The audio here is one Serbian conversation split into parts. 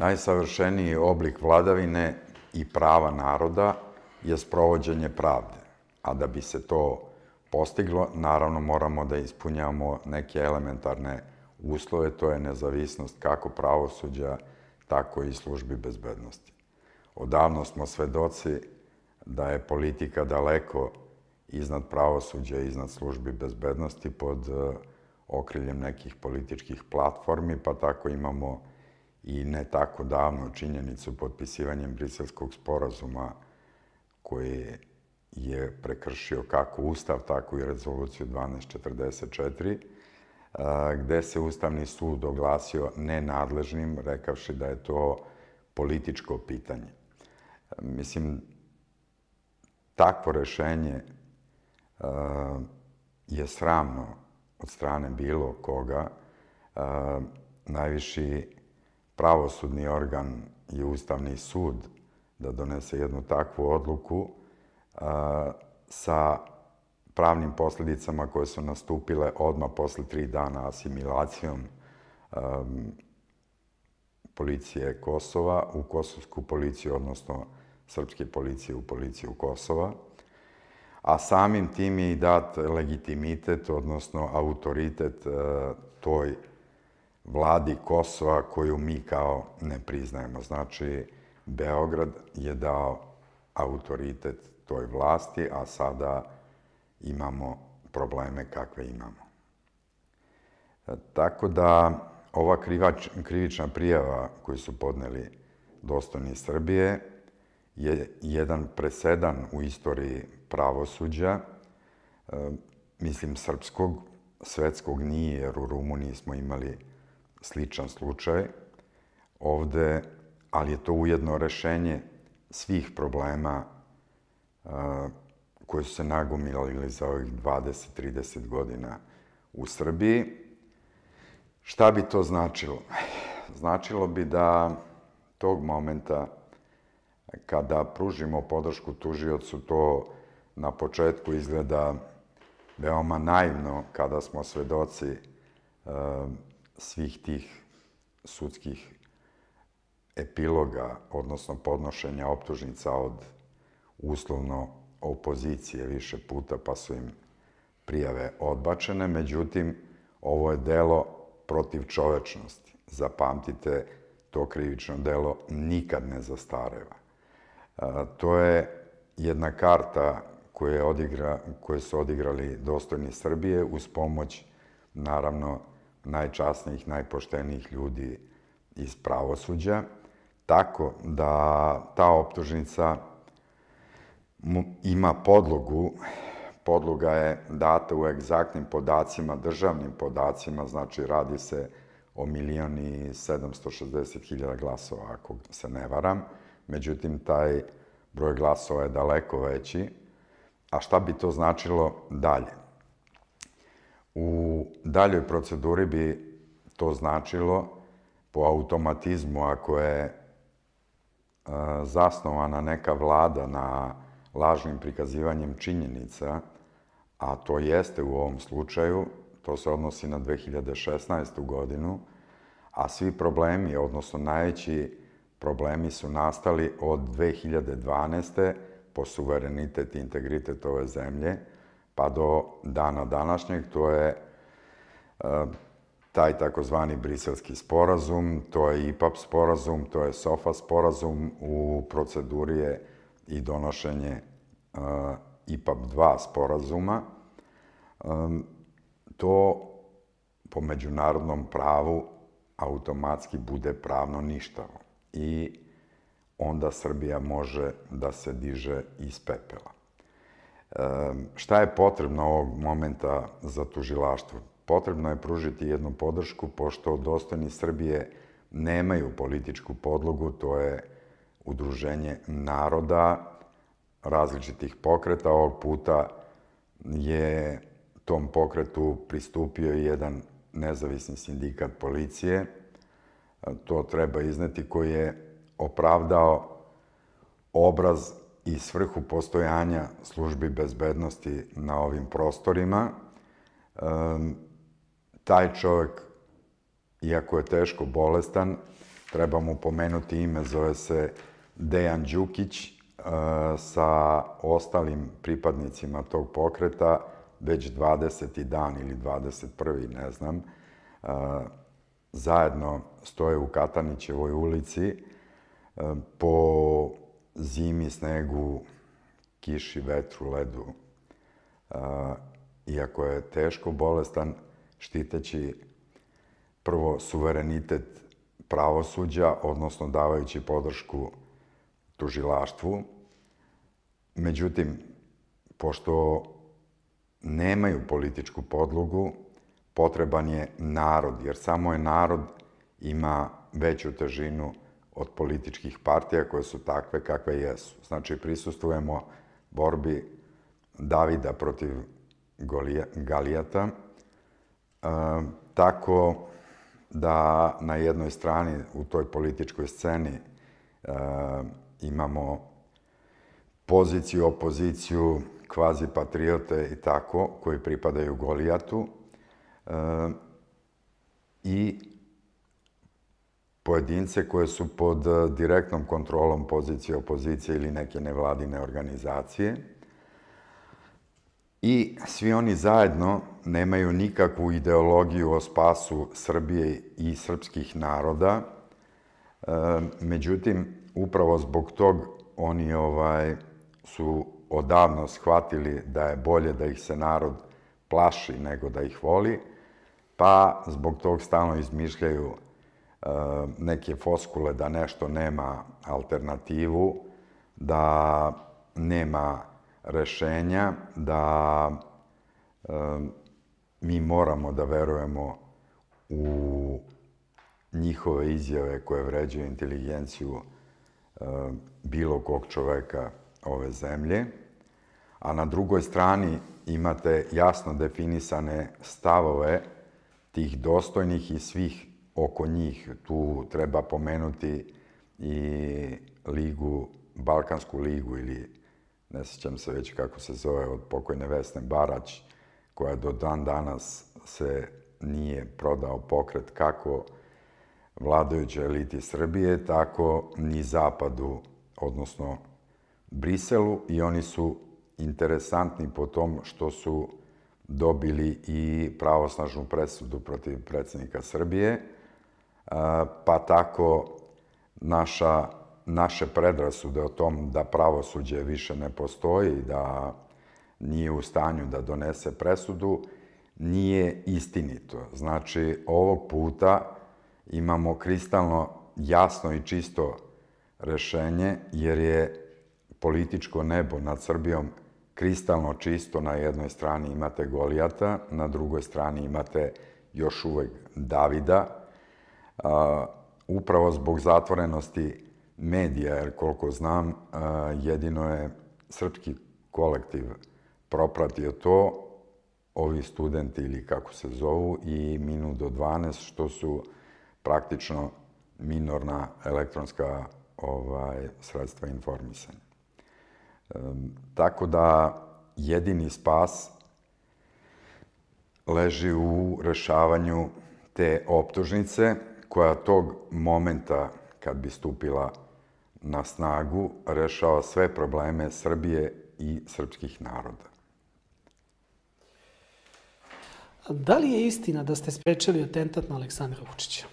Najsavršeniji oblik vladavine i prava naroda je sprovođenje pravde, a da bi se to postiglo, naravno moramo da ispunjavamo neke elementarne uslove, to je nezavisnost kako pravosuđa, tako i službi bezbednosti. Odavno smo svedoci da je politika daleko iznad pravosuđa i iznad službi bezbednosti pod okriljem nekih političkih platformi, pa tako imamo i ne tako davno činjenicu potpisivanjem Briselskog sporazuma koji je prekršio kako Ustav, tako i Rezoluciju 1244, gde se Ustavni sud oglasio nenadležnim, rekavši da je to političko pitanje. Mislim, takvo rešenje je sramno od strane bilo koga. Najviši pravosudni organ je Ustavni sud da donese jednu takvu odluku sa pravnim posledicama koje su nastupile odmah posle 3 dana asimilacijom policije Kosova u kosovsku policiju, odnosno srpske policije u policiju Kosova, a samim tim je i dat legitimitet, odnosno autoritet toj vladi Kosova koju mi kao ne priznajemo. Znači, Beograd je dao autoritet toj vlasti, a sada imamo probleme kakve imamo. Tako da ova krivična prijava koju su podneli dostojni Srbije je jedan presedan u istoriji pravosuđa, mislim srpskog, svetskog nije, jer u Rumuniji smo imali sličan slučaj ovde, ali je to ujedno rešenje svih problema koji su se nagomilali za ovih 20-30 godina u Srbiji. Šta bi to značilo? Značilo bi da tog momenta kada pružimo podršku tužiocu, to na početku izgleda veoma naivno kada smo svedoci svih tih sudskih epiloga, odnosno podnošenja optužnica od uslovno opozicije više puta, pa su im prijave odbačene. Međutim, ovo je delo protiv čovečnosti. Zapamtite, to krivično delo nikad ne zastareva. To je jedna karta koju su odigrali dostojni Srbije uz pomoć, naravno, najčasnijih, najpoštenijih ljudi iz pravosuđa, tako da ta optužnica ima podlogu. Podloga je data u egzaktnim podacima, državnim podacima, znači radi se o 1.760.000 glasova, ako se ne varam. Međutim, taj broj glasova je daleko veći. A šta bi to značilo dalje? U daljoj proceduri bi to značilo po automatizmu, ako je zasnovana neka vlada na lažnim prikazivanjem činjenica, a to jeste u ovom slučaju, to se odnosi na 2016. godinu, a svi problemi, odnosno najveći problemi su nastali od 2012. po suverenitet i integritet ove zemlje, pa do dana današnjeg. To je taj takozvani Briselski sporazum, to je IPAP sporazum, to je SOFA sporazum, u proceduri je i donošenje IPAP 2 sporazuma. To po međunarodnom pravu automatski bude pravno ništavo i onda Srbija može da se diže iz pepela. Šta je potrebno ovog momenta za tužilaštvo? Potrebno je pružiti jednu podršku, pošto dostojni Srbije nemaju političku podlogu, to je udruženje naroda, različitih pokreta. Ovog puta je tom pokretu pristupio i jedan nezavisni sindikat policije, to treba izneti, koji je opravdao obraz i svrhu postojanja službi bezbednosti na ovim prostorima. Taj čovek, iako je teško bolestan, treba mu pomenuti ime, zove se Dejan Đukić, sa ostalim pripadnicima tog pokreta već 20. dan ili 21. ne znam, zajedno stoje u Katanićevoj ulici po zimi, snegu, kiši, vetru, ledu. Iako je teško bolestan, štiteći prvo suverenitet pravosuđa, odnosno davajući podršku tužilaštvu. Međutim, pošto nemaju političku podlogu, potreban je narod, jer samo je narod ima veću težinu od političkih partija koje su takve kakve jesu. Znači, prisustvujemo borbi Davida protiv Galijata, tako da na jednoj strani u toj političkoj sceni imamo poziciju, opoziciju, kvazi patriote i tako, koji pripadaju Golijatu, i pojedince koje su pod direktnom kontrolom pozicije, opozicije ili neke nevladine organizacije. I svi oni zajedno nemaju nikakvu ideologiju o spasu Srbije i srpskih naroda. Međutim, upravo zbog tog oni su odavno shvatili da je bolje da ih se narod plaši nego da ih voli, pa zbog tog stalno izmišljaju neke floskule da nešto nema alternativu, da nema rešenja, da mi moramo da verujemo u njihove izjave koje vređaju inteligenciju bilo kog čoveka ove zemlje, a na drugoj strani imate jasno definisane stavove tih dostojnih i svih oko njih. Tu treba pomenuti i Balkansku ligu, ili ne sjećam se već kako se zove, od pokojne Vesne Barać, koja do dan danas se nije prodao pokret kako vladajućoj eliti Srbije, tako ni Zapadu, odnosno Briselu, i oni su interesantni po tom što su dobili i pravosnažnu presudu protiv predsjednika Srbije, pa tako naše predrasude o tom da pravosuđe više ne postoji, da nije u stanju da donese presudu, nije istinito. Znači, ovog puta imamo kristalno jasno i čisto rešenje, jer je političko nebo nad Srbijom kristalno čisto. Na jednoj strani imate Golijata, na drugoj strani imate još uvek Davida. Upravo zbog zatvorenosti medija, jer koliko znam, jedino je srpski kolektiv propratio to, ovi studenti ili kako se zovu, i Minut do 12, što su praktično minorna elektronska sredstva informisanja. Tako da jedini spas leži u rešavanju te optužnice, koja tog momenta, kad bi stupila na snagu, rešava sve probleme Srbije i srpskih naroda. Da li je istina da ste sprečili atentat na Aleksandra Vučića?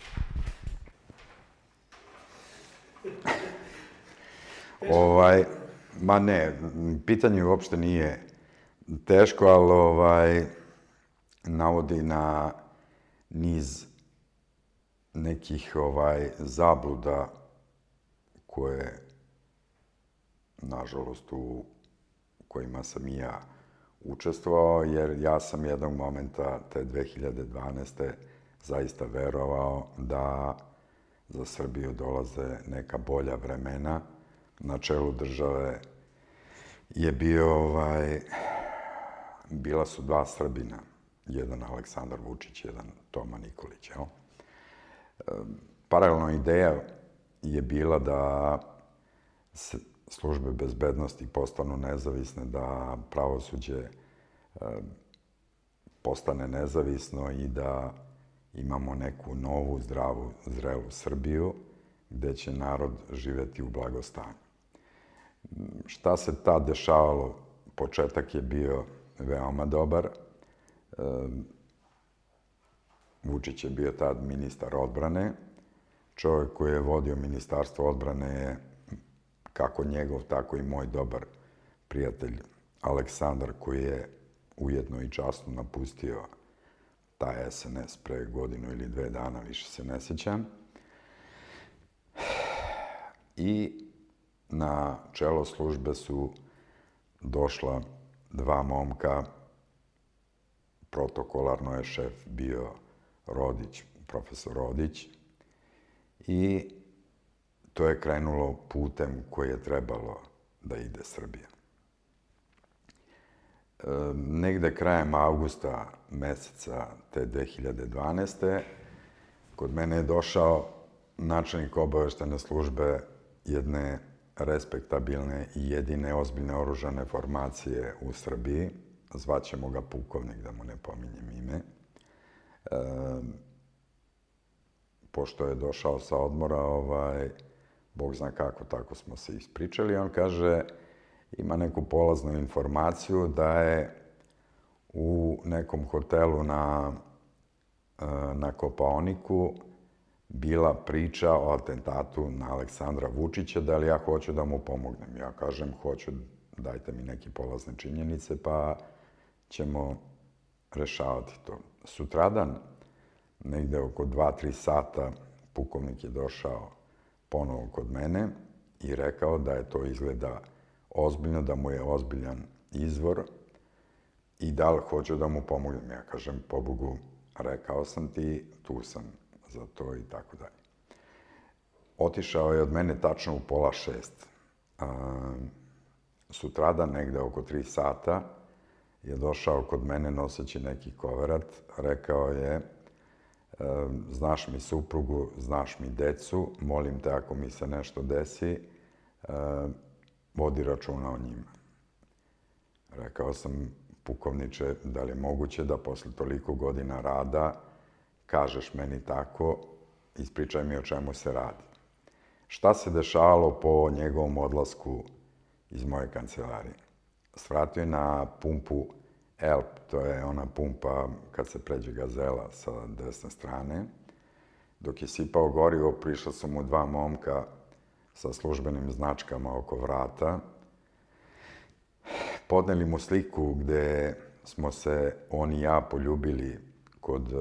Ma ne, pitanje uopšte nije teško, ali navodi na niz nekih zabluda koje, nažalost, u kojima sam i ja učestvovao, jer ja sam jednog momenta te 2012. zaista verovao da za Srbiju dolaze neka bolja vremena. Na čelu države je bila su dva Srbina, jedan Aleksandar Vučić, jedan Toma Nikolić. Paralelna ideja je bila da službe bezbednosti postanu nezavisne, da pravosuđe postane nezavisno i da imamo neku novu, zdravu, zrelu Srbiju. gde će narod živeti u blagostanju. Šta se tad dešavalo? Početak je bio veoma dobar. Vučić je bio tad ministar odbrane. Čovjek koji je vodio ministarstvo odbrane je kako njegov, tako i moj dobar prijatelj Aleksandar, koji je ujedno i časno napustio taj SNS pre godinu ili 2 dana, više se ne sjećam. I na čelo službe su došla 2 momka. Protokolarno je šef bio Rodić, profesor Rodić. I to je krenulo putem koji je trebalo da ide Srbija. Negde krajem avgusta meseca te 2012. kod mene je došao načelnik obaveštene službe jedne respektabilne i jedine ozbiljne oružane formacije u Srbiji. Zvaćemo ga pukovnik, da mu ne pominjem ime. Pošto je došao sa odmora, Bog zna kako, tako smo se ispričali. On kaže, ima neku polaznu informaciju da je u nekom hotelu na Kopaoniku bila priča o atentatu na Aleksandra Vučića, da li ja hoću da mu pomognem. Ja kažem, hoću, dajte mi neke polazne činjenice, pa ćemo rešavati to. Sutradan, negde oko 2-3 sata, pukovnik je došao ponovo kod mene i rekao da je to izgleda ozbiljno, da mu je ozbiljan izvor i da li hoću da mu pomognem. Ja kažem, pobogu, rekao sam ti, tu sam za to i tako dalje. Otišao je od mene tačno u 5:30. Sutradan, negde oko 3 sata, je došao kod mene noseći neki koverat. Rekao je, znaš mi suprugu, znaš mi decu, molim te ako mi se nešto desi, vodi računa o njima. Rekao sam, pukovniče, da li je moguće da posle toliko godina rada kažeš meni tako, ispričaj mi o čemu se radi. Šta se dešavalo po njegovom odlasku iz moje kancelarije? Svratio je na pumpu Elp, to je ona pumpa kad se pređe Gazela sa desne strane. Dok je sipao gorivo, prišla su mu 2 momka sa službenim značkama oko vrata. Podneli mu sliku gde smo se on i ja poljubili kod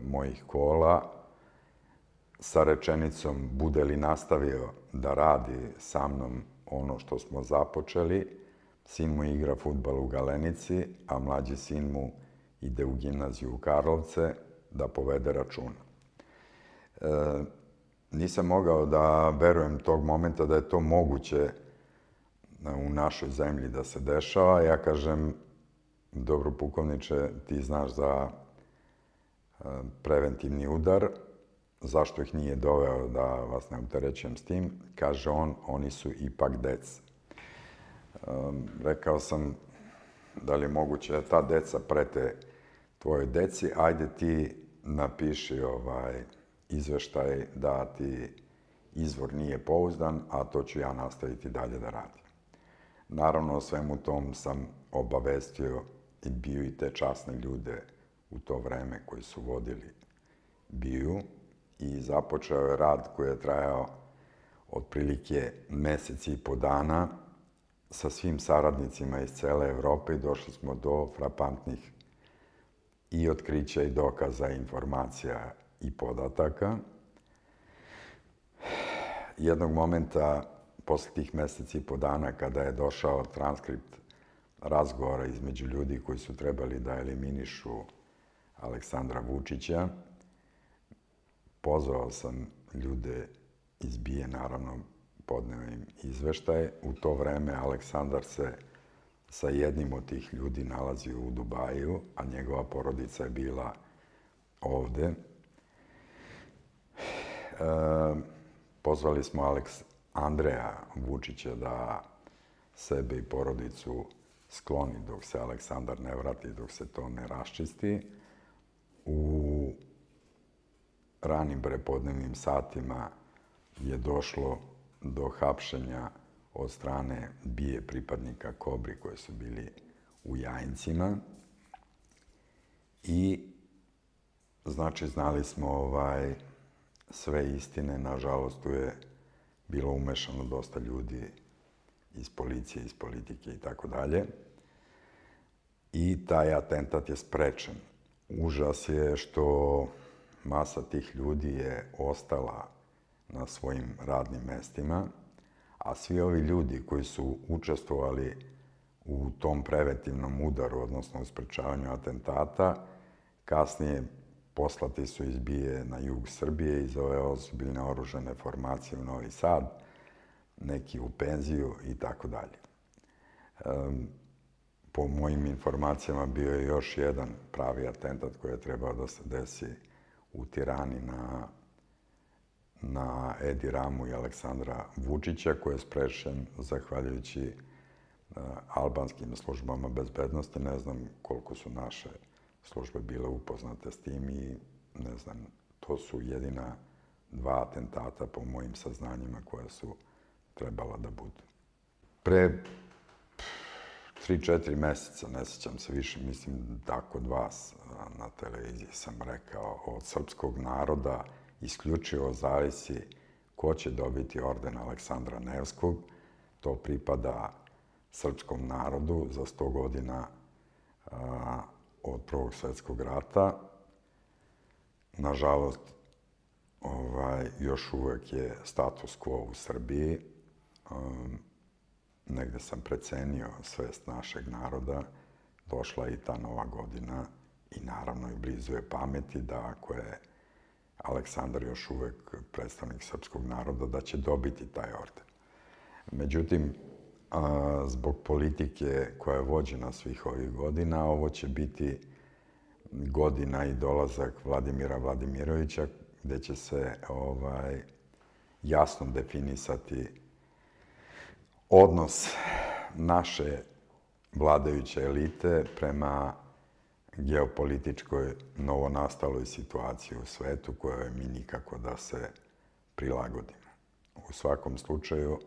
mojih kola sa rečenicom, bude li nastavio da radi sa mnom ono što smo započeli, sin mu igra fudbal u Galenici, a mlađi sin mu ide u gimnaziju u Karlovce, da povede računa. Nisam mogao da verujem tog momenta da je to moguće u našoj zemlji da se dešava. Ja kažem, dobro pukovniče, ti znaš za preventivni udar, zašto ih nije doveo da vas ne opterećujem s tim? Kaže on, oni su ipak deca. Rekao sam, da li je moguće da ta deca prete tvojoj deci, ajde ti napiši izveštaj da ti izvor nije pouzdan, a to ću ja nastaviti dalje da radim. Naravno, o svemu tom sam obavestio i bio i te časne ljude u to vreme koji su vodili BIA i započeo je rad koji je trajao otprilike 1,5 meseca sa svim saradnicima iz cele Evrope i došli smo do frapantnih i otkrića i dokaza, informacija i podataka. Jednog momenta, posle tih 1,5 meseca, kada je došao transkript razgovora između ljudi koji su trebali da eliminišu Aleksandra Vučića, pozvao sam ljude iz BIA, naravno, podneo im izveštaj. U to vreme Aleksandar se sa jednim od tih ljudi nalazio u Dubaju, a njegova porodica je bila ovde. Pozvali smo Andreja Vučića da sebe i porodicu skloni dok se Aleksandar ne vrati, dok se to ne raščisti. U ranim prepodnevnim satima je došlo do hapšenja od strane BIA pripadnika Kobri koji su bili u Jajincima. I, znači, znali smo sve istine. Nažalost, tu je bilo umešano dosta ljudi iz policije, iz politike i tako dalje. I taj atentat je sprečen. Užas je što masa tih ljudi je ostala na svojim radnim mestima, a svi ovi ljudi koji su učestvovali u tom preventivnom udaru, odnosno u sprečavanju atentata, kasnije poslati su iz BIA na jug Srbije, iz ove ozbiljne oružane formacije u Novi Sad, neki u penziju i tako dalje. Po mojim informacijama bio je još jedan pravi atentat koji je trebao da se desi u Tirani na Edi Ramu i Aleksandra Vučića, koji je sprečen zahvaljujući albanskim službama bezbednosti. Ne znam koliko su naše službe bile upoznate s tim i ne znam, to su jedina dva atentata po mojim saznanjima koja su trebala da budu. Pre 3-4 meseca, ne sjećam se više, mislim da kod vas na televiziji sam rekao, od srpskog naroda isključivo zavisi ko će dobiti orden Aleksandra Nevskog. To pripada srpskom narodu za 100 godina od Prvog svetskog rata. Nažalost, još uvek je status quo u Srbiji. Negde sam precenio svest našeg naroda. Došla je i ta nova godina i naravno i blizu je pameti da ako je Aleksandar još uvek predstavnik srpskog naroda, da će dobiti taj orden. Međutim, zbog politike koja je vođena svih ovih godina, ovo će biti godina i dolazak Vladimira Vladimirovića, gde će se jasno definisati odnos naše vladajuće elite prema geopolitičkoj novonastaloj situaciji u svetu kojoj mi nikako da se prilagodimo. U svakom slučaju,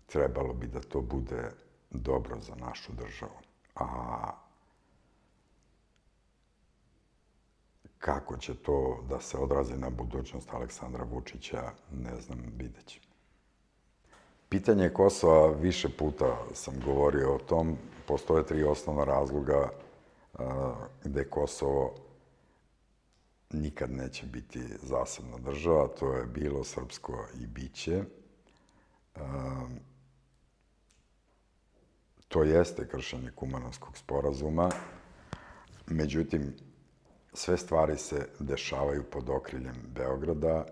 trebalo bi da to bude dobro za našu državu. A kako će to da se odrazi na budućnost Aleksandra Vučića, ne znam, vidjet ćemo. Pitanje Kosova, više puta sam govorio o tom, postoje 3 osnovna razloga gde Kosovo nikad neće biti zasebna država. To je bilo srpsko i biće. To jeste kršenje Kumanovskog sporazuma. Međutim, sve stvari se dešavaju pod okriljem Beograda.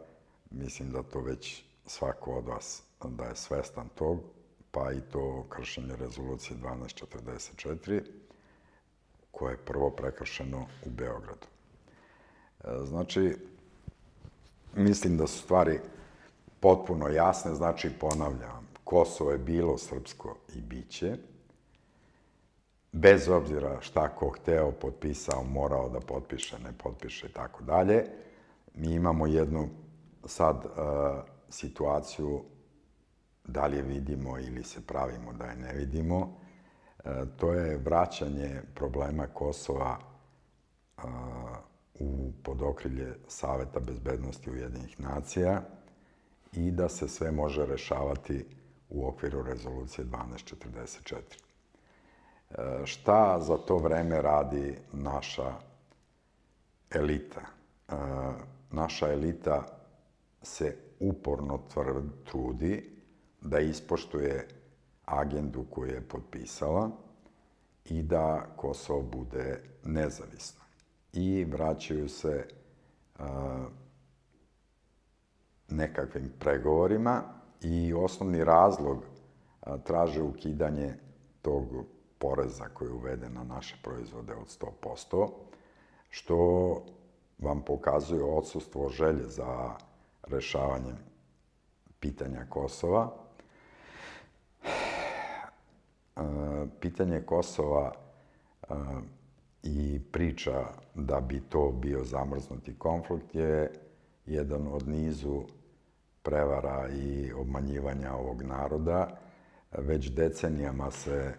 Mislim da to već svako od vas da je svestan tog, pa i to kršenje rezolucije 1244, koje je prvo prekršeno u Beogradu. Znači, mislim da su stvari potpuno jasne. Znači, ponavljam, Kosovo je bilo srpsko i biće. Bez obzira šta ko hteo, potpisao, morao da potpiše, ne potpiše i tako dalje. Mi imamo jednu sad situaciju, da li je vidimo ili se pravimo da je ne vidimo. To je vraćanje problema Kosova pod okrilje Saveta bezbednosti Ujedinjenih nacija i da se sve može rešavati u okviru rezolucije 1244. Šta za to vreme radi naša elita? Naša elita se uporno trudi da ispoštuje agendu koju je potpisala i da Kosovo bude nezavisno. I vraćaju se nekakvim pregovorima i osnovni razlog traže ukidanje tog poreza koji je uveden na naše proizvode od 100%, što vam pokazuje odsustvo želje za rešavanjem pitanja Kosova. Pitanje Kosova i priča da bi to bio zamrznuti konflikt je jedan od nizu prevara i obmanjivanja ovog naroda. Već decenijama se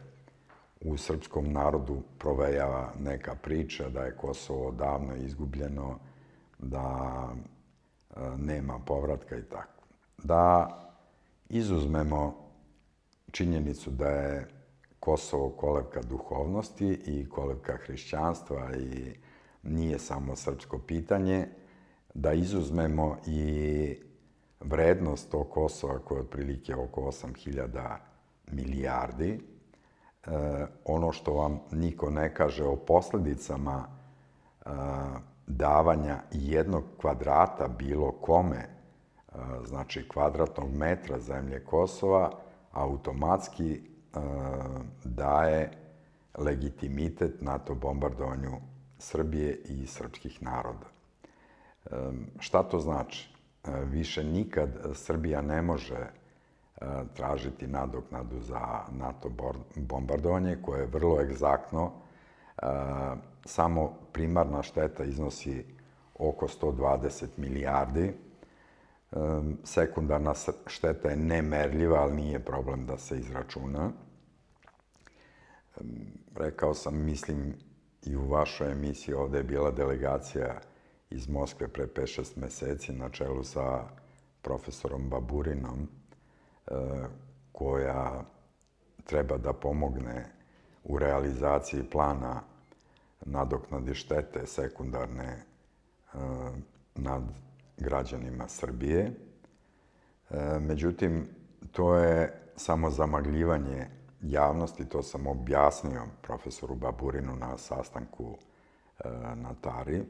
u srpskom narodu provejava neka priča da je Kosovo davno izgubljeno, da nema povratka i tako. Da izuzmemo činjenicu da je Kosovo kolevka duhovnosti i kolevka hrišćanstva i nije samo srpsko pitanje, da izuzmemo i vrednost tog Kosova koja je otprilike oko 8.000 milijardi. Ono što vam niko ne kaže o posledicama davanja jednog kvadrata bilo kome, znači kvadratnog metra zemlje Kosova, automatski daje legitimitet NATO bombardovanju Srbije i srpskih naroda. Šta to znači? Više nikad Srbija ne može tražiti nadoknadu za NATO bombardovanje, koje je vrlo egzaktno. Samo primarna šteta iznosi oko 120 milijardi. Sekundarna šteta je nemerljiva, ali nije problem da se izračuna. Rekao sam, mislim, i u vašoj emisiji ovde je bila delegacija iz Moskve pre 5-6 meseci na čelu sa profesorom Baburinom, koja treba da pomogne u realizaciji plana nadoknade štete sekundarne nad građanima Srbije. Međutim, to je samo zamagljivanje javnosti, to sam objasnio profesoru Baburinu na sastanku na Tari,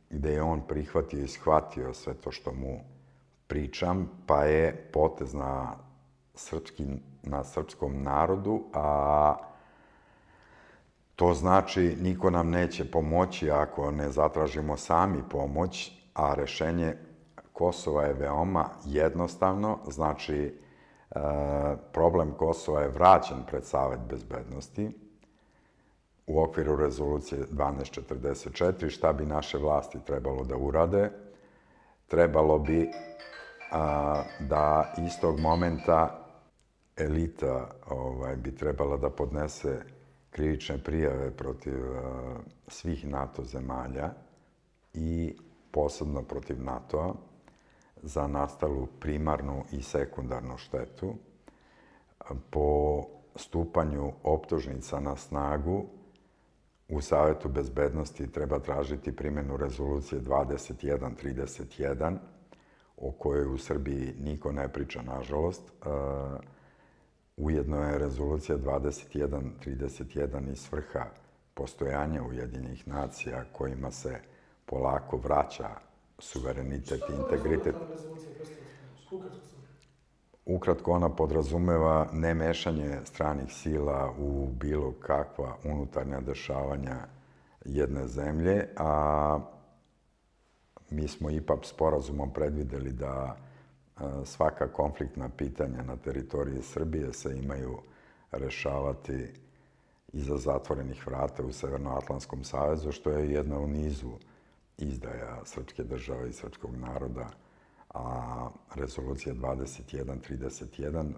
gde je on prihvatio i shvatio sve to što mu pričam, pa je potez na srpskom narodu, a to znači niko nam neće pomoći ako ne zatražimo sami pomoć, a rešenje Kosova je veoma jednostavno, znači problem Kosova je vraćen pred Savet bezbednosti u okviru rezolucije 1244. Šta bi naše vlasti trebalo da urade? Trebalo bi da istog momenta elita bi trebala da podnese krivične prijave protiv svih NATO zemalja i posebno protiv NATO-a za nastalu primarnu i sekundarnu štetu. Po stupanju optužnica na snagu u Savetu bezbednosti treba tražiti primjenu rezolucije 2131, o kojoj u Srbiji niko ne priča, nažalost. Ujedno je rezolucija 2131 i svrha postojanja Ujedinjenih nacija, kojima se polako vraća suverenitet i integritet. Ukratko, ona podrazumeva nemešanje stranih sila u bilo kakva unutarnja dešavanja jedne zemlje, a mi smo IPAP sporazumom predvideli da svaka konfliktna pitanja na teritoriji Srbije se imaju rešavati iza zatvorenih vrata u Severnoatlantskom savezu, što je jedna u nizu izdaja srpske države i srpskog naroda, a rezolucija 2131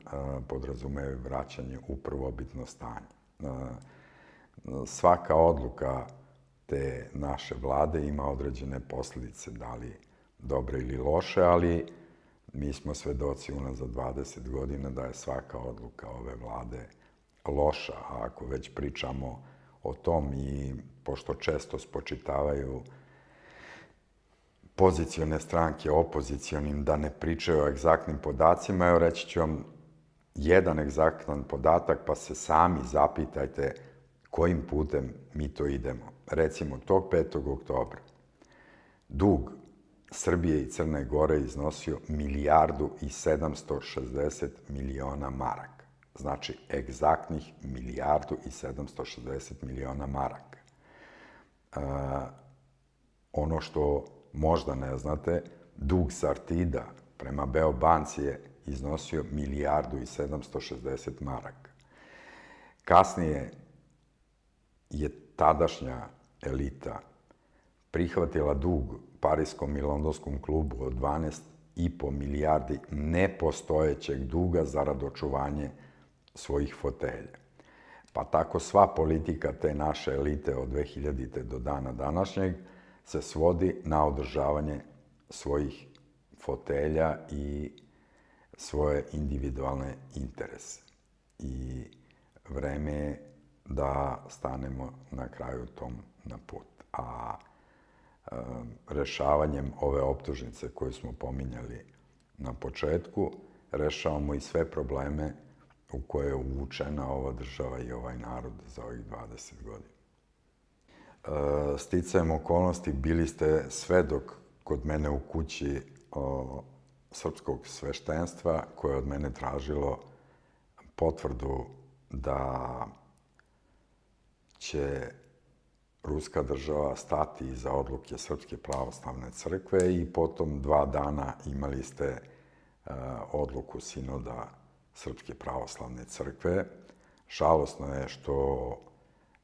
podrazumeva vraćanje u prvobitno stanje. Svaka odluka te naše vlade ima određene posledice, da li dobre ili loše, ali mi smo svedoci unazad 20 godina da je svaka odluka ove vlade loša. A ako već pričamo o tom i pošto često spočitavaju pozicione stranke opozicionim da ne pričaju o egzaktnim podacima, evo reći ću vam jedan egzaktan podatak, pa se sami zapitajte kojim putem mi to idemo. Recimo, tog 5. oktobra dug Srbije i Crne Gore iznosio 1.760 miliona maraka. Znači, egzaktnih 1.760 miliona maraka. Ono što možda ne znate, dug Sartida prema Beobanci je iznosio 1.760 maraka. Kasnije je tadašnja elita prihvatila dug Parijskom i Londonskom klubu od 12,5 milijardi nepostojećeg duga zarad očuvanje svojih fotelja. Pa tako sva politika te naše elite od 2000. do dana današnjeg se svodi na održavanje svojih fotelja i svoje individualne interese. I vreme je da stanemo na kraju tom na put. A rešavanjem ove optužnice koju smo pominjali na početku, rešavamo i sve probleme u koje je uvučena ova država i ovaj narod za ovih 20 godina. Sticajem okolnosti bili ste svedok kod mene u kući srpskog sveštenstva koje je od mene tražilo potvrdu da će ruska država stati iza odluke Srpske pravoslavne crkve i potom 2 dana imali ste odluku sinoda Srpske pravoslavne crkve. Žalosno je što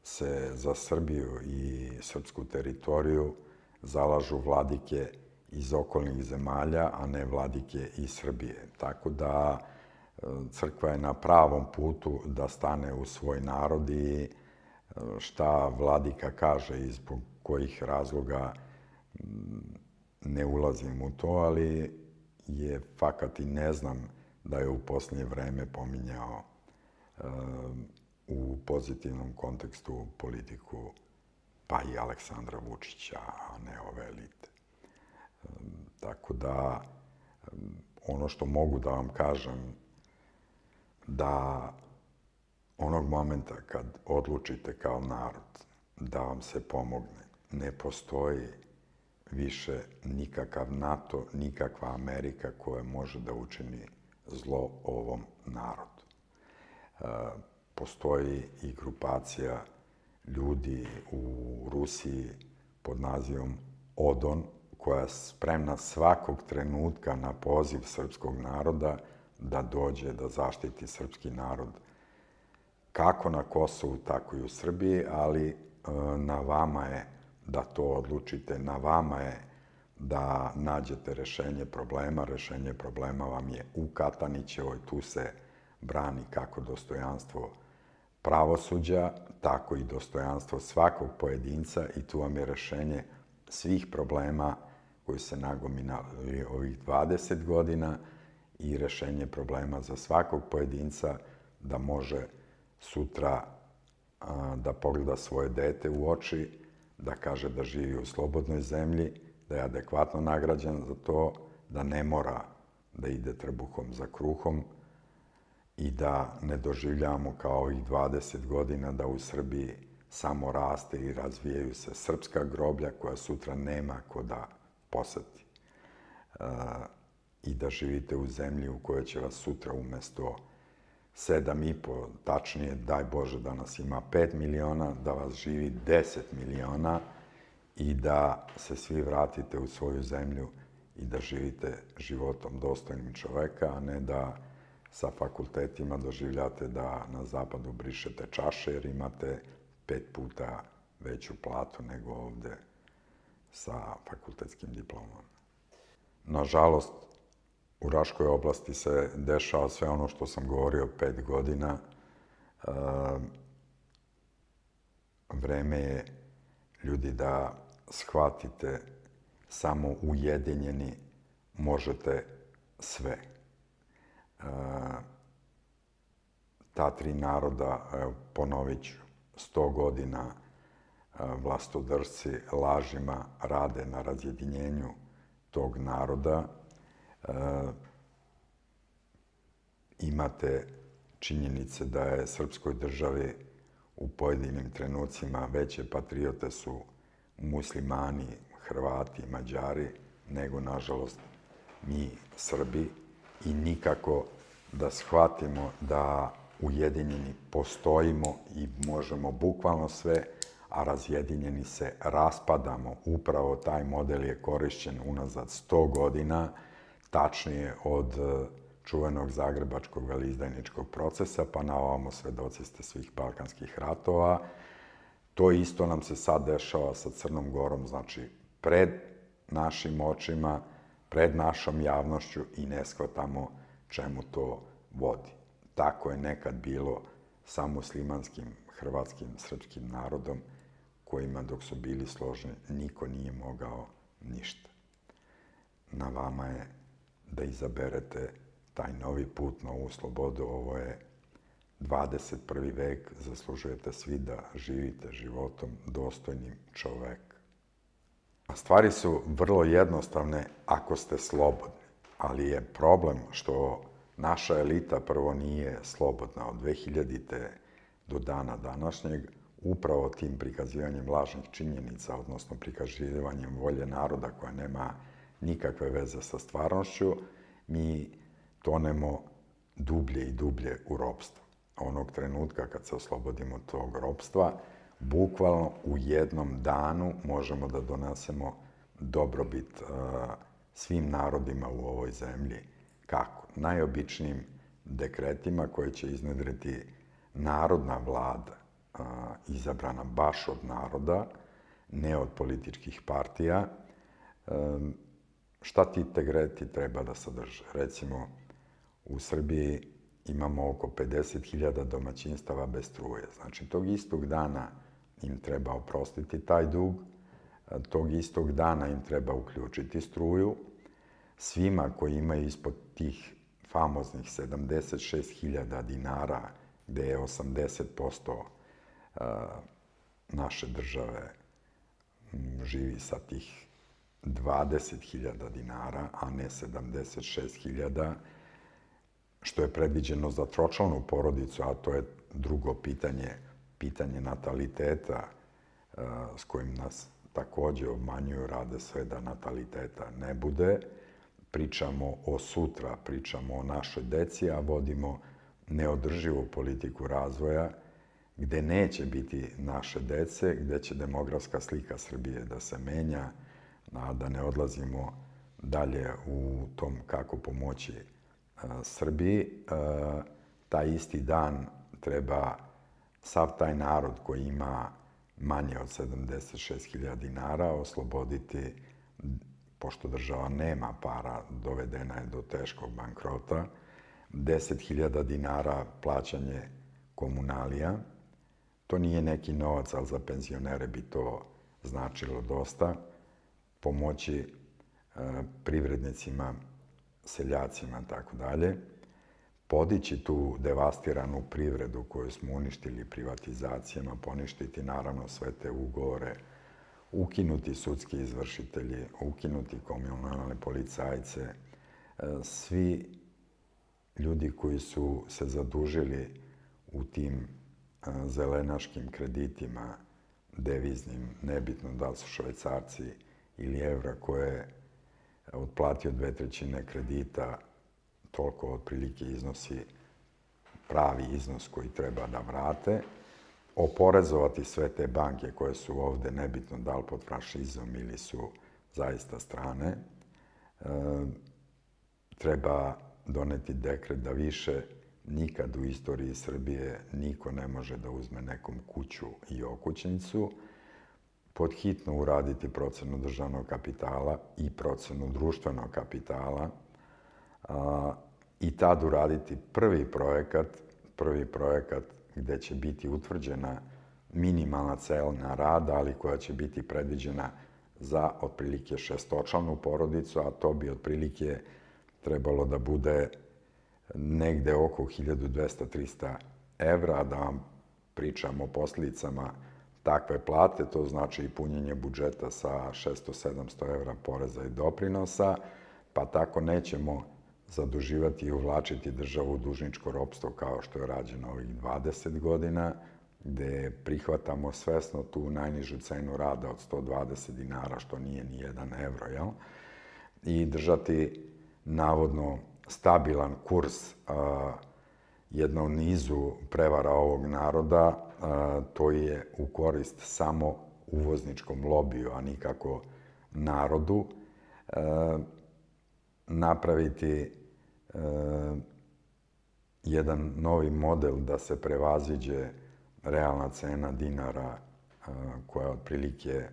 se za Srbiju i srpsku teritoriju zalažu vladike iz okolnih zemalja, a ne vladike iz Srbije. Tako da crkva je na pravom putu da stane u svoj narod i šta vladika kaže i zbog kojih razloga ne ulazim u to, ali je fakat i ne znam da je u posljednje vreme pominjao u pozitivnom kontekstu politiku pa i Aleksandra Vučića, a ne ove elite. Tako da ono što mogu da vam kažem da onog momenta kad odlučite kao narod da vam se pomogne, ne postoji više nikakav NATO, nikakva Amerika koja može da učini zlo ovom narodu. Postoji i grupacija ljudi u Rusiji pod nazivom ODON, koja je spremna svakog trenutka na poziv srpskog naroda da dođe da zaštiti srpski narod kako na Kosovu, tako i u Srbiji, ali na vama je da to odlučite, na vama je da nađete rešenje problema. Rešenje problema vam je u Katanićevoj, tu se brani kako dostojanstvo pravosuđa, tako i dostojanstvo svakog pojedinca i tu vam je rešenje svih problema koji se nagomilali ovih 20 godina i rešenje problema za svakog pojedinca da može sutra da pogleda svoje dete u oči, da kaže da živi u slobodnoj zemlji, da je adekvatno nagrađen za to, da ne mora da ide trbuhom za kruhom i da ne doživljavamo kao ovih 20 godina da u Srbiji samo raste i razvijaju se srpska groblja koja sutra nema ko da poseti. I da živite u zemlji u kojoj će vas sutra umesto 7,5, tačnije, daj Bože da nas ima 5 miliona, da vas živi 10 miliona i da se svi vratite u svoju zemlju i da živite životom dostojnim čoveka, a ne da sa fakultetima doživljate da na zapadu brišete čaše jer imate 5 puta veću platu nego ovde sa fakultetskim diplomom. Nažalost, u Raškoj oblasti se dešava sve ono što sam govorio 5 godina. Vreme je, ljudi, da shvatite samo ujedinjeni možete sve. Ta 3 naroda, ponovit ću, 100 godina vlastodršci lažima rade na razjedinjenju tog naroda. Imate činjenice da je srpskoj državi u pojedinim trenucima veće patriote su muslimani, Hrvati, Mađari, nego, nažalost, mi Srbi i nikako da shvatimo da ujedinjeni postojimo i možemo bukvalno sve, a razjedinjeni se raspadamo. Upravo taj model je korišćen unazad 100 godina, tačnije od čuvenog zagrebačkog veleizdajničkog procesa, pa na ovamo svedoci ste svih balkanskih ratova. To isto nam se sad dešava sa Crnom Gorom, znači pred našim očima, pred našom javnošću i ne shvatamo čemu to vodi. Tako je nekad bilo sa muslimanskim, hrvatskim, srpskim narodom, kojima dok su bili složni niko nije mogao ništa. Na vama je da izaberete taj novi put, novu slobodu. Ovo je 21. vek, zaslužujete svi da živite životom dostojnim čoveka. Stvari su vrlo jednostavne ako ste slobodni, ali je problem što naša elita prvo nije slobodna od 2000. do dana današnjeg, upravo tim prikazivanjem lažnih činjenica, odnosno prikazivanjem volje naroda koja nema nikakve veze sa stvarnošću, mi tonemo dublje i dublje u ropstvo. Onog trenutka kad se oslobodimo tog ropstva, bukvalno u jednom danu možemo da donesemo dobrobit svim narodima u ovoj zemlji. Kako? Najobičnijim dekretima koje će iznedriti narodna vlada, izabrana baš od naroda, ne od političkih partija. Šta ti dekreti treba da sadrže? Recimo, u Srbiji imamo oko 50.000 domaćinstava bez struje. Znači, tog istog dana im treba oprostiti taj dug, tog istog dana im treba uključiti struju. Svima koji imaju ispod tih famoznih 76.000 dinara, gde je 80% naše države živi sa tih 20.000 dinara, a ne 76.000, što je predviđeno za tročlanu porodicu, a to je drugo pitanje, pitanje nataliteta, s kojim nas takođe obmanjuju, rade sve da nataliteta ne bude. Pričamo o sutra, pričamo o našoj deci, a vodimo neodrživu politiku razvoja, gde neće biti naše dece, gde će demografska slika Srbije da se menja, a da ne odlazimo dalje u tom kako pomoći Srbiji. Taj isti dan treba sav taj narod koji ima manje od 76.000 dinara osloboditi, pošto država nema para, dovedena je do teškog bankrota, 10.000 dinara plaćanje komunalija. To nije neki novac, ali za penzionere bi to značilo dosta. Pomoći privrednicima, seljacima, tako dalje. Podići tu devastiranu privredu koju smo uništili privatizacijama, poništiti naravno sve te ugovore, ukinuti sudski izvršitelji, ukinuti komunalne policajce. Svi ljudi koji su se zadužili u tim zelenaškim kreditima, deviznim, nebitno da li su švajcarci ili evra, koje je otplatio 2/3 kredita, toliko otprilike iznosi pravi iznos koji treba da vrate, oporezovati sve te banke koje su ovde, nebitno da li pod fašizom ili su zaista strane. Treba doneti dekret da više nikad u istoriji Srbije niko ne može da uzme nekom kuću i okućnicu, pod hitno uraditi procenu državnog kapitala i procenu društvenog kapitala i tad uraditi prvi projekat gde će biti utvrđena minimalna cena rada, ali koja će biti predviđena za otprilike šestočlanu porodicu, a to bi otprilike trebalo da bude negde oko 1.200-300 evra, da vam pričam o posledicama takve plate, to znači i punjenje budžeta sa 600-700 evra poreza i doprinosa, pa tako nećemo zaduživati i uvlačiti državu u dužničko ropstvo kao što je rađeno ovih 20 godina, gde prihvatamo svesno tu najnižu cenu rada od 120 dinara, što nije ni 1 evro, jel? I držati navodno stabilan kurs jednom nizu prevara ovog naroda, to je u korist samo uvozničkom lobiju, a nikako narodu. Napraviti jedan novi model da se prevaziđe realna cena dinara koja je otprilike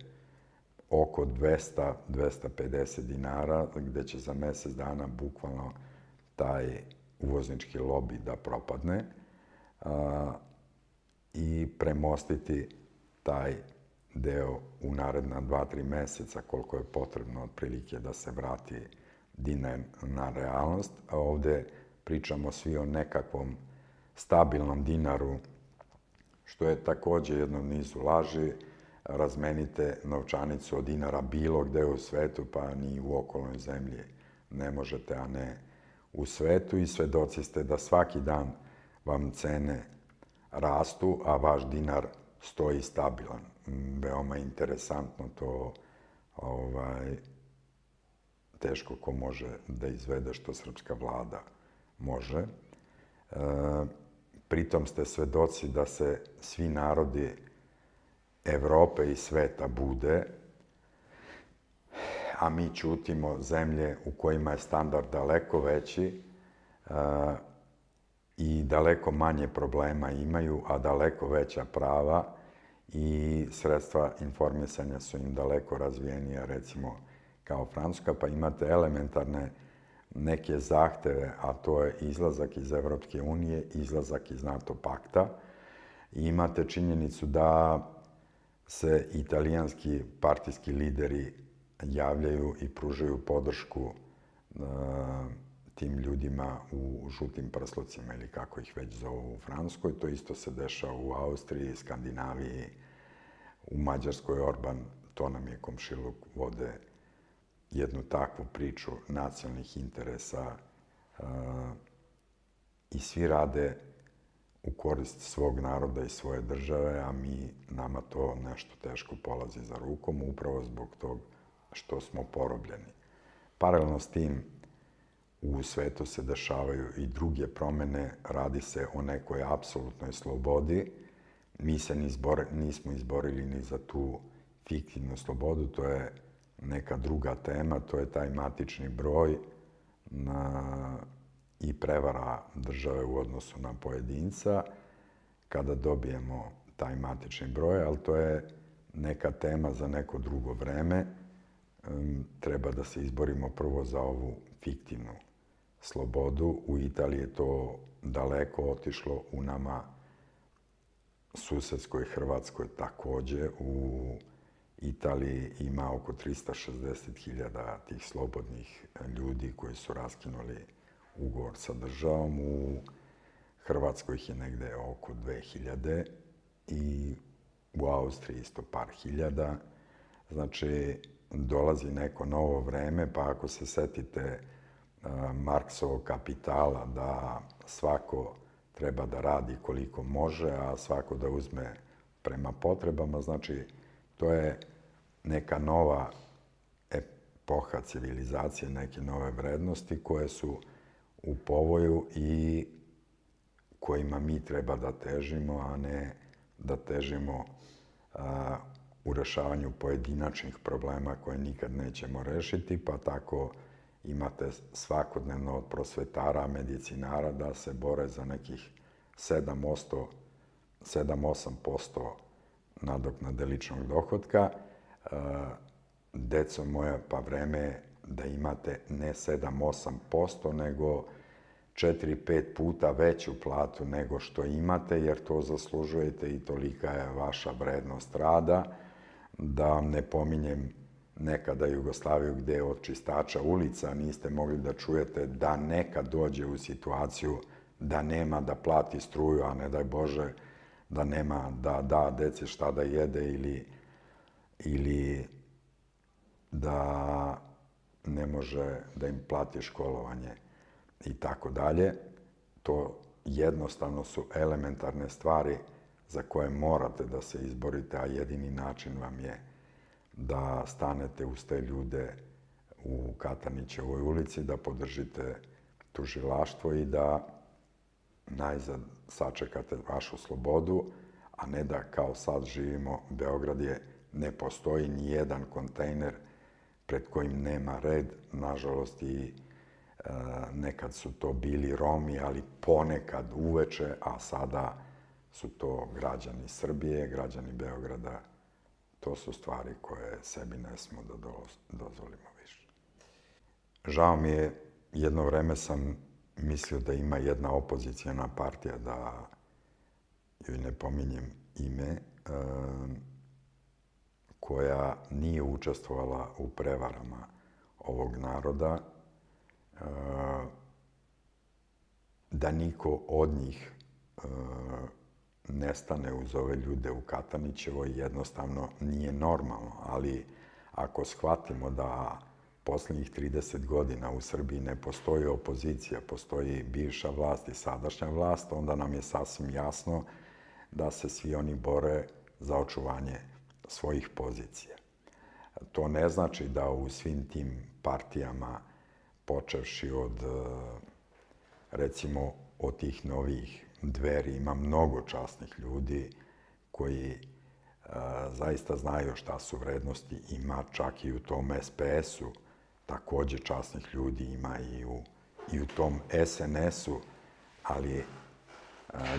oko 200-250 dinara, gde će za mesec dana bukvalno taj uvoznički lobi da propadne i premostiti taj deo u naredna 2-3 meseca, koliko je potrebno otprilike da se vrati dinar na realnost. A ovde pričamo svi o nekakvom stabilnom dinaru, što je takođe jedno nizu laži. Razmenite novčanicu od dinara bilo gde u svetu, pa ni u okolnoj zemlji ne možete, a ne u svetu. I svedoci ste da svaki dan vam cene rastu, a vaš dinar stoji stabilan. Veoma interesantno to, teško ko može da izvede što srpska vlada može. Pritom ste svedoci da se svi narodi Evrope i sveta bude, a mi ćutimo zemlje u kojima je standard daleko veći i daleko manje problema imaju, a daleko veća prava i sredstva informisanja su im daleko razvijenija, recimo kao Francuska, pa imate elementarne neke zahteve, a to je izlazak iz Evropske unije, izlazak iz NATO pakta. I imate činjenicu da se italijanski partijski lideri javljaju i pružaju podršku tim ljudima u žutim prslocima ili kako ih već zovu u Francuskoj. To isto se dešava u Austriji, Skandinaviji, u Mađarskoj Orban, to nam je komšiluk, vode jednu takvu priču nacionalnih interesa i svi rade u korist svog naroda i svoje države, a nama to nešto teško polazi za rukom, upravo zbog tog što smo porobljeni. Paralelno s tim, u svetu se dešavaju i druge promene, radi se o nekoj apsolutnoj slobodi. Mi se nismo izborili ni za tu fiktivnu slobodu, to je neka druga tema, to je taj matični broj i prevara države u odnosu na pojedinca kada dobijemo taj matični broj, ali to je neka tema za neko drugo vreme. Treba da se izborimo prvo za ovu fiktivnu slobodu. U Italiji je to daleko otišlo, u nama susedskoj Hrvatskoj takođe. U Italiji ima oko 360.000 tih slobodnih ljudi koji su raskinuli ugovor sa državom. U Hrvatskoj ih je negde oko 2.000 i u Austriji isto par hiljada. Znači, dolazi neko novo vreme, pa ako se setite Marksovog Kapitala, da svako treba da radi koliko može, a svako da uzme prema potrebama, znači, to je neka nova epoha civilizacije, neke nove vrednosti koje su u povoju i kojima mi treba da težimo, a ne da težimo u rešavanju pojedinačnih problema koje nikad nećemo rešiti, pa tako imate svakodnevno od prosvetara, medicinara da se bore za nekih 7-8% nadoknade ličnog dohotka. Deco moja, pa vreme je da imate ne 7-8%, nego 4-5 puta veću platu nego što imate, jer to zaslužujete i tolika je vaša vrednost rada. Da vam ne pominjem nekada Jugoslaviju gde od čistača ulica niste mogli da čujete da nekad dođe u situaciju da nema da plati struju, a ne daj Bože da nema da da deci šta da jede ili da ne može da im plati školovanje i tako dalje. To jednostavno su elementarne stvari za koje morate da se izborite, a jedini način vam je da stanete uz te ljude u Katanićevoj ulici, da podržite tužilaštvo i da najzad sačekate vašu slobodu, a ne da kao sad živimo, Beograd ne postoji ni jedan kontejner pred kojim nema red. Nažalost, i nekad su to bili Romi, ali ponekad uveče, a sada su to građani Srbije, građani Beograda to su stvari koje sebi ne smo da dozvolimo više. Žao mi je, jedno vreme sam mislio da ima jedna opozicijana partija, da joj ne pominjem ime, koja nije učestvovala u prevarama ovog naroda, da niko od njih ne stane uz ove ljude u Katanićevoj, jednostavno nije normalno. Ali ako shvatimo da poslednjih 30 godina u Srbiji ne postoji opozicija, postoji bivša vlast i sadašnja vlast, onda nam je sasvim jasno da se svi oni bore za očuvanje svojih pozicija. To ne znači da u svim tim partijama, počevši od, recimo, od tih novih Dveri, ima mnogo časnih ljudi koji zaista znaju šta su vrednosti. Ima čak i u tom SPS-u takođe časnih ljudi, ima i u tom SNS-u, ali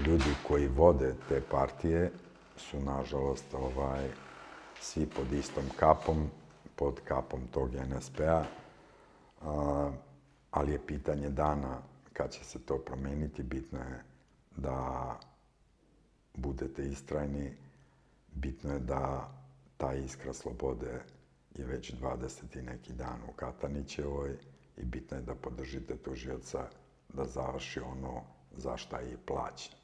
ljudi koji vode te partije su, nažalost, svi pod istom kapom, pod kapom tog NSP-a, ali je pitanje dana kad će se to promeniti. Bitno je da budete istrajni, bitno je da ta iskra slobode je već 20. neki dan u Katanićevoj i bitno je da podržite tužioca da završi ono za šta je i plaćen.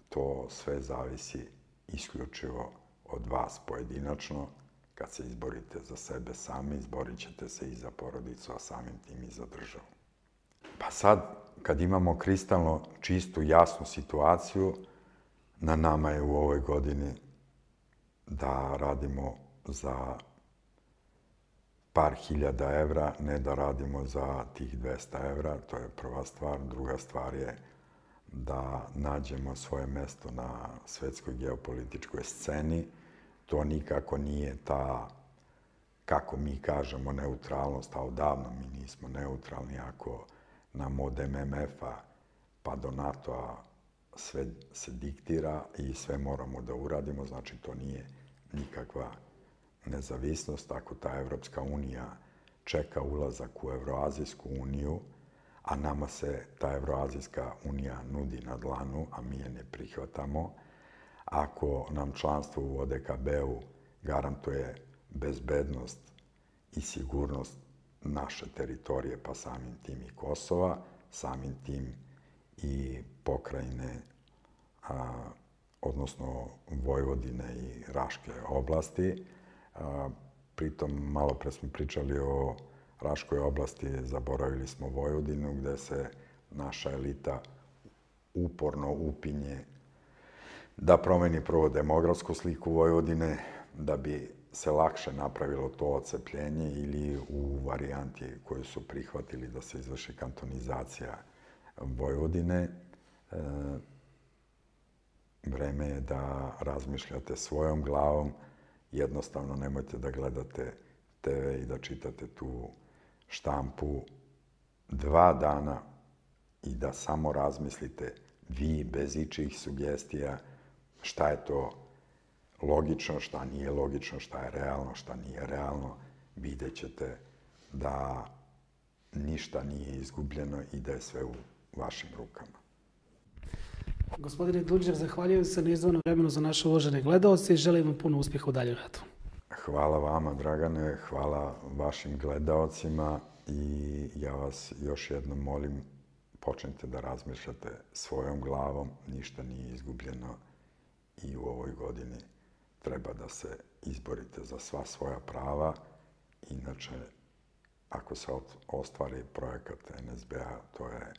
To sve zavisi isključivo od vas pojedinačno. Kad se izborite za sebe sami, izborit ćete se i za porodicu, a samim tim i za državu. Pa sad, kad imamo kristalno čistu, jasnu situaciju, na nama je u ovoj godini da radimo za par hiljada evra, ne da radimo za tih 200 evra, to je prva stvar. Druga stvar je da nađemo svoje mesto na svetskoj geopolitičkoj sceni. To nikako nije ta, kako mi kažemo, neutralnost, a odavno mi nismo neutralni. Ako nam od MMF-a pa do NATO-a sve se diktira i sve moramo da uradimo, znači to nije nikakva nezavisnost. Ako ta Evropska unija čeka ulazak u Evroazijsku uniju, a nama se ta Evroazijska unija nudi na dlanu, a mi je ne prihvatamo, ako nam članstvo u ODKB-u garantuje bezbednost i sigurnost naše teritorije, pa samim tim i Kosova, samim tim i pokrajine, odnosno Vojvodine i Raške oblasti. Pritom, malo pre smo pričali o Raškoj oblasti, zaboravili smo Vojvodinu, gde se naša elita uporno upinje da promeni prvo demografsku sliku Vojvodine, da bi se lakše napravilo to odcepljenje, ili u varijanti koju su prihvatili da se izvrši kantonizacija Vojvodine. Vreme je da razmišljate svojom glavom. Jednostavno nemojte da gledate TV i da čitate tu štampu 2 dana i da samo razmislite vi, bez ičijih sugestija, šta je to logično, šta nije logično, šta je realno, šta nije realno. Vidjet ćete da ništa nije izgubljeno i da je sve u vašim rukama. Gospodine Đurđev, zahvaljujem se na izdvojenom vremenu za naše uvažene gledaoce i želim vam puno uspjeha u daljem radu. Hvala vama, Dragane, hvala vašim gledaocima i ja vas još jednom molim, počnite da razmišljate svojom glavom, ništa nije izgubljeno i u ovoj godini treba da se izborite za sva svoja prava. Inače, ako se ostvari projekat NSB-a, to je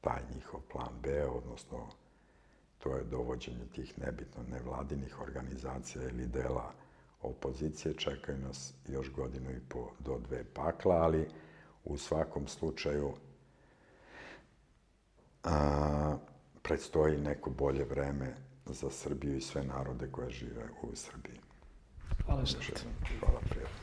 taj njihov plan B, odnosno to je dovođenje tih nebitno nevladinih organizacija ili dela opozicije. Čekaju nas još 1,5 godinu do 2 pakla, ali u svakom slučaju predstoji neko bolje vreme za Srbiju i sve narode koje žive u Srbiji. Hvala što. Hvala, prijatno.